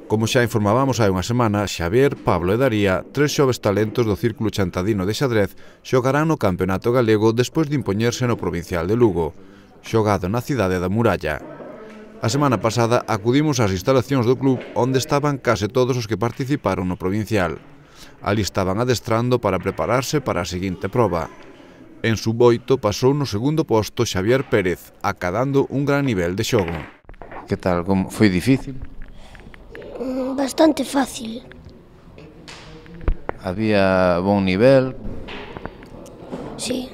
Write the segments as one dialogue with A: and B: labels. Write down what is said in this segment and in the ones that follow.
A: Como xa informábamos hai unha semana, Xavier, Pablo e Daría, tres xoves talentos do Círculo Chantadino de Xadrez, xogarán no Campeonato Galego despois de impoñerse no Provincial de Lugo, xogado na cidade da Muralla. A semana pasada acudimos ás instalacións do club onde estaban case todos os que participaron no Provincial. Ali estaban adestrando para prepararse para a seguinte proba. En sub-8 pasou no segundo posto Xavier Pérez, acadando un gran nivel de xogo.
B: Que tal? Como foi difícil?
C: Bastante fácil.
B: Había bon nivel?
C: Sí.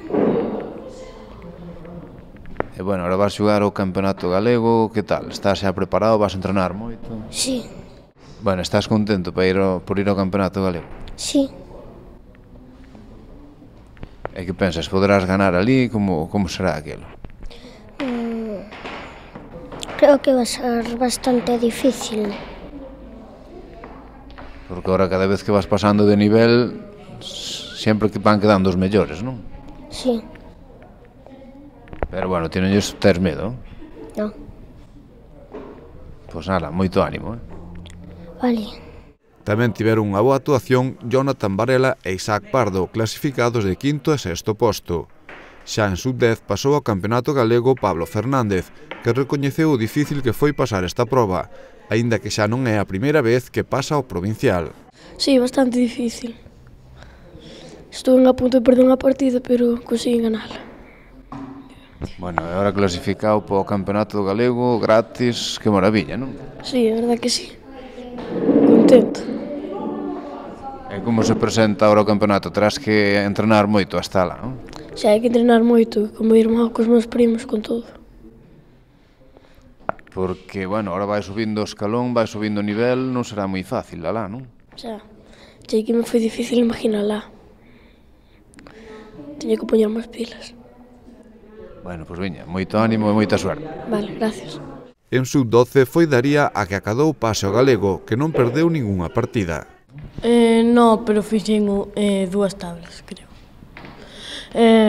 B: E bueno, ahora vas xogar o Campeonato Galego, que tal? Estás xa preparado? Vas a entrenar moito?
C: Sí.
B: Bueno, estás contento por ir ao Campeonato Galego?
C: Sí.
B: E que pensas? Poderás ganar ali? Como será aquilo?
C: Creo que va a ser bastante difícil.
B: Porque ahora cada vez que vas pasando de nivel, sempre que van quedando os mellores, non?
C: Sí.
B: Pero bueno, tes medo?
C: Non.
B: Pois nada, moito ánimo,
C: Vale.
A: Tamén tiveron unha boa actuación Jonathan Varela e Isaac Pardo, clasificados de quinto e sexto posto. Xa en sub-10 pasou ao Campeonato Galego Pablo Fernández, que recoñeceu o difícil que foi pasar esta proba, aínda que xa non é a primeira vez que pasa ao Provincial.
D: Sí, bastante difícil. Estuve a punto de perder unha partida, pero consegui ganala.
B: Bueno, e agora clasificado para o Campeonato Galego gratis, que maravilla, non?
D: Sí, a verdad que sí. Contento.
B: E como se presenta agora o campeonato? Terás que entrenar moito hasta lá, non?
D: Xa hai que entrenar moito, como irmão cos meus primos, con todo.
B: Porque, bueno, ahora vai subindo o escalón, vai subindo o nivel, non será moi fácil, alá, non?
D: Xa, sei que me foi difícil imaginala. Teño que poñer máis pilas.
B: Bueno, pois veña, moito ánimo e moita suerte.
D: Vale, gracias.
A: En sub-12 foi Daría a que acadou o pase ao galego, que non perdeu ningunha partida.
E: No, pero fixen dúas tablas, creo.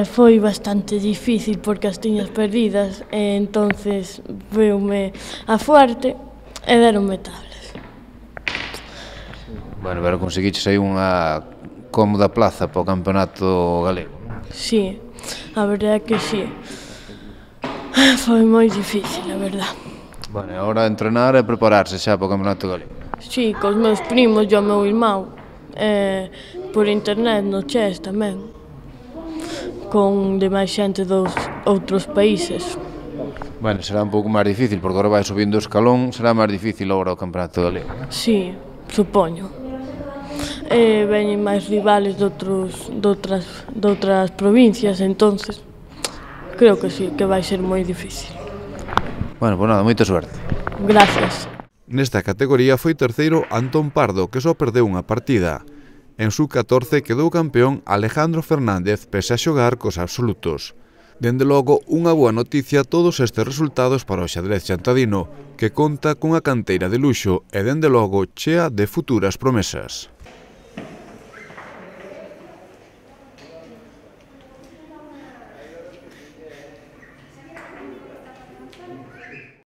E: Foi bastante difícil porque as tiñas perdidas e entonces veume a fuerte e deronme tablas.
B: Bueno, pero conseguiches aí unha cómoda plaza para o Campeonato Galego.
E: Sí, a verdade é que sí. Foi moi difícil, a verdade.
B: Bueno, e agora entrenar e prepararse xa para o Campeonato Galego.
E: Sí, cos meus primos e o meu irmão, por internet no chess tamén, con demais xente dos outros países.
B: Bueno, será un pouco máis difícil, porque agora vai subindo o escalón, será máis difícil agora o Campeonato Galego.
E: Sí, supoño. Veñen máis rivales de outras provincias, entonces creo que sí, que vai ser moi difícil.
B: Bueno, pois nada, moita suerte.
E: Gracias.
A: Nesta categoría foi terceiro Antón Pardo, que só perdeu unha partida. En sub-14 quedou campeón Alejandro Fernández, pese a xogar cos absolutos. Dende logo, unha boa noticia todos estes resultados para o xadrez chantadino, que conta cunha canteira de luxo e dende logo chea de futuras promesas.